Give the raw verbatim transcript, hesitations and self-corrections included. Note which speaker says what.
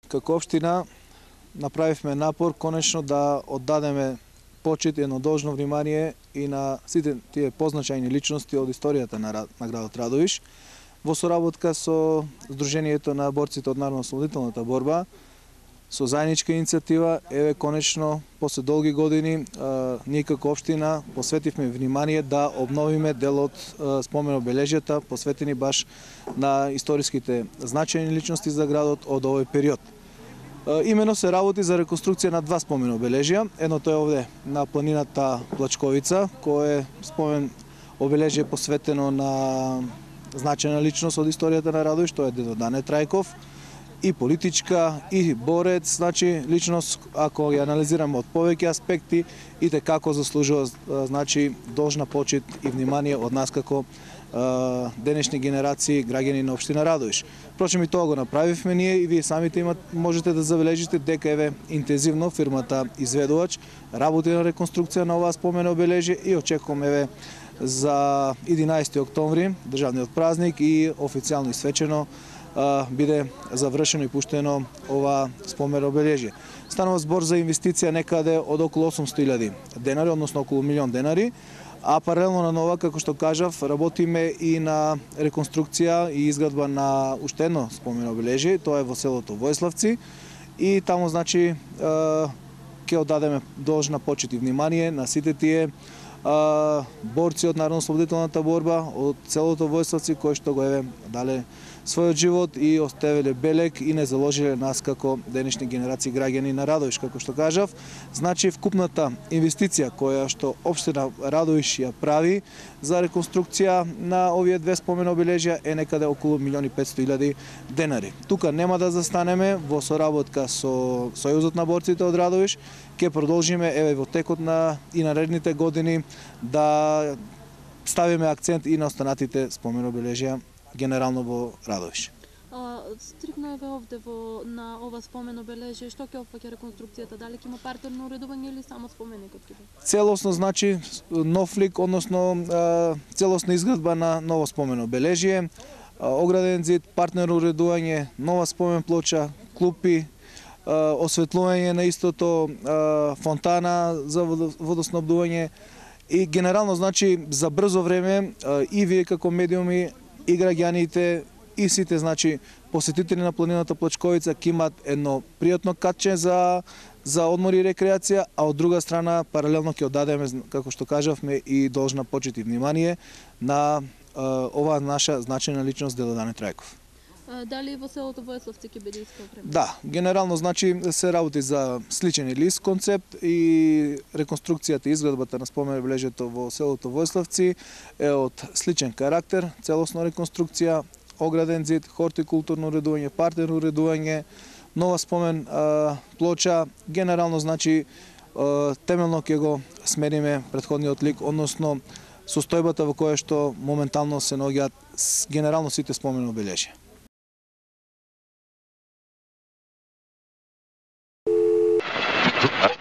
Speaker 1: како општина направивме напор конечно да оддадеме почит и едно должно внимание и на сите тие позначајни личности од историјата на, на градот Радовиш. Во соработка со Сдруженијето на борците од народно-ослободителната борба, со заедничка иницијатива, еве конечно после долги години ние како општина посветивме внимание да обновиме дел од спомен-обележјата посветени баш на историските значајни личности за градот од овој период. Имено се работи за реконструкција на два спомен обележја. Едното е овде на планината Плачковица, кој е спомен обележје посветено на значајна личност од историјата на Радовиш, тоа е дедо Дане Трајков, и политичка, и борец, значи личност, ако ја анализираме од повеќе аспекти, и те како заслужува значи должна почит и внимание од нас како денешни генерации граѓани на општина Радовиш. Впрочем, и тоа го направивме ние и вие самите имат, можете да забележите дека еве интензивно фирмата изведувач работи на реконструкција на оваа спомена обележје и очекуваме еве за единаесети октомври, државниот празник, и официјално и свечено биде завршено и пуштено ова спомен обележје. Станува збор за инвестиција некаде од околу осумстотини илјади денари, односно околу милион денари, а паралелно на нова, како што кажав, работиме и на реконструкција и изградба на уште едно спомен обележје, тоа е во селото Војславци, и таму значи ќе оддадеме должна почит и внимание на сите тие борци од народно-ослободителната борба од селото Војславци, кои што го еве дале својот живот и оставиле белег и не заложиле нас како денешни генерации граѓани на Радовиш, како што кажав. Значи вкупната инвестиција која што општина Радовиш ја прави за реконструкција на овие две спомен обележја е некаде околу милион и петстотини илјади денари. Тука нема да застанеме, во соработка со Сојузот на борците од Радовиш ќе продолжиме еве во текот на и наредните години да ставиме акцент и на останатите спомен обележја генерално во Радовиш.
Speaker 2: А, стрикно еве овде во на ова спомен обележје, што ќе опфаќа реконструкцијата? Дали ќе има партерно уредување или само споменикот ќе биде?
Speaker 1: Целосно значи нов лик, односно целосна изградба на ново спомен обележје, ограден зид, партнерно уредување, нова спомен плоча, клупи, осветлување на истото, фонтана за водоснабдување и генерално значи за брзо време и вие како медиуми и граѓаните и сите значи посетители на планината Плачковица ќе имат едно пријатно катче за за одмор и рекреација, а од друга страна паралелно ќе оддадеме, како што кажавме, и должна почит и внимание на оваа наша значајна личност дедо Дане Трајков.
Speaker 2: Дали во селото Војславци ќе биде исто време?
Speaker 1: Да, генерално значи се работи за сличен или ист концепт и реконструкцијата и изградбата на спомен обележјето во селото Војславци е од сличен карактер, целосна реконструкција, ограден зид, хортикултурно уредување, партерно уредување, нова спомен а, плоча, генерално значи а, темелно ќе го смениме претходниот лик, односно состојбата во која што моментално се наоѓаат генерално сите спомен обележја.
Speaker 3: Uh,